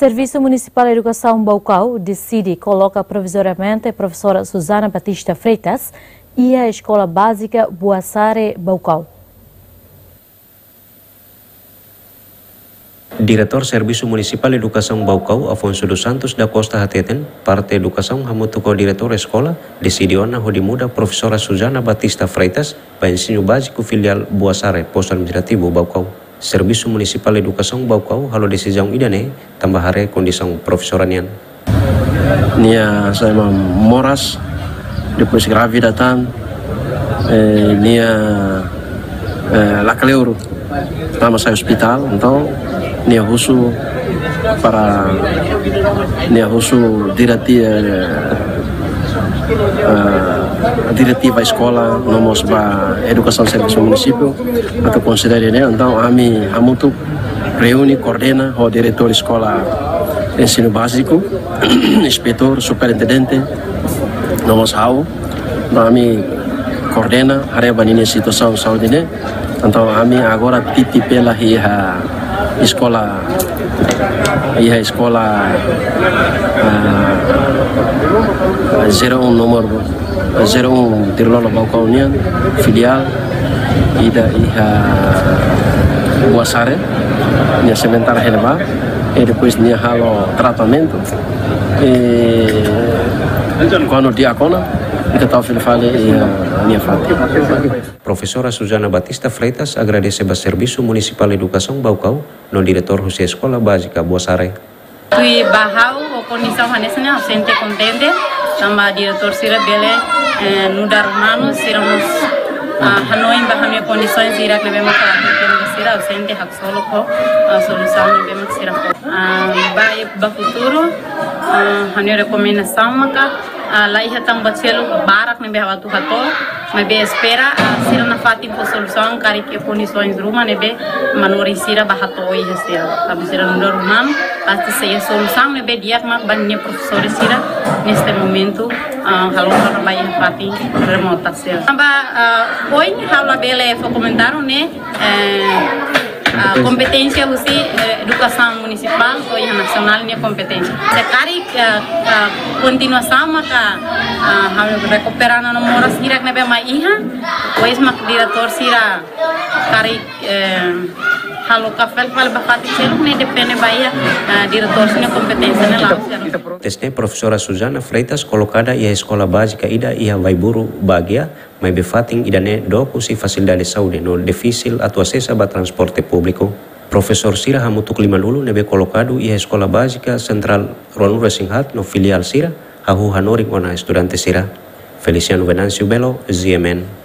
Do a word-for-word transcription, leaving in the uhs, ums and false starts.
Servisu Munisipál Edukasaun Baucau deside koloka provizoriamente profesora Susana Batista Freitas iha Eskola Bázika Buasare, Baucau. Diretór Servisu Munisipál Edukasaun Baucau, Afonso dos Santos da Costa hateten, parte edukasaun hamutuk ho diretór eskola deside ona hodi muda profesora Susana Batista Freitas ba Ensinu Báziku Filiál Buasare, Postu Administrativu Baucau. Servisu Munisipál Edukasaun Baucau halo desizaun ida-ne'e tanba haree kondisaun profesora nian. Nia sai ema moras, depois grávida tan, eh, nia, eh, lakleur, tama sai ospitál, entaun nia husu para, nia husu direti-, eh, eh, diretiva eskola, no mós ba edukasaun servisu munisípiu, atu konsidera ne'e, entaun ami hamutuk reúne, koordena ho diretór eskola ensinu báziku, inspetór, superintendente, no mós ha'u. Entaun ami koordena, haree ba ninia situasaun saúde ne'e. Entaun ami agora titi pela iha eskola, iha eskola, ah, zero um nomor zero um Tirlolo Baucau nian, filiál ida iha Buasare, nia sementara hela ba, e depois nia halo tratamentu, e kuandu di'ak ona, ita tau fila fali iha nia fatin. Profesora Susana Batista Freitas agradese ba Servisu Munisipál Edukasaun Baucau no diretór husi Eskola Bázika Buasare. Tuir ba ha'u, ho kondisaun hanesan ne'e, ha'u sente kontente, tanba diretór sira bele, eh, nu'udar umanu, sira mós, ah, hanoin ba ha'u-nia kondisaun sira ne'ebé mak ha'u aplika ba sira, ha'u sente haksolok ho, ah, solusaun ne'ebé mak sira fó. Ah, ba, ba futuru, ah, ha'u-nia rekomendasaun maka, ah, la iha tan buat seluk barak ne'ebé ha'u atu hato'o, maibé espera, ah, sira nafatin fó solusaun karik iha kondisoens ruma ne'ebé manorin sira bá hato'o iha sira. Tanba sira nu'udar umanu, pasti sei iha solusaun ne'ebé di'ak mak ba ninia profesór sira neste momentu, ah, halo para bá iha fatin remota sira. Tanba, ah, ohin ha'u labele fó komentáriu ne'e, eh, ah, kompeténsia husi, eh, edukasaun munisipál ou iha nasionál nia kompeténsia. Se karik, eh, eh, kontinuasaun maka, ah, ha'u rekupera ona moras hirak ne'ebé mak iha, depois mak diretór sira karik, eh, halo ka fali fali ba fatin seluk ne'e depende ba iha, eh, diretór sira-nia kompeténsia ne'e la'o. Teste profesora Susana Freitas kolokada iha eskola bázika ida iha Vaiburu, Baguia, maibé fatin ida-ne'e dook husi fasilidade saúde no difisil atu asesa ba transporte públiku. Profesór sira hamutuk limanulu ne'ebé kolokadu iha Eskola Bázika Sentrál ruanulu-resin-haat no filiál sira hahú hanorin ona estudante sira. Feliciano Venâncio Belo, G M N.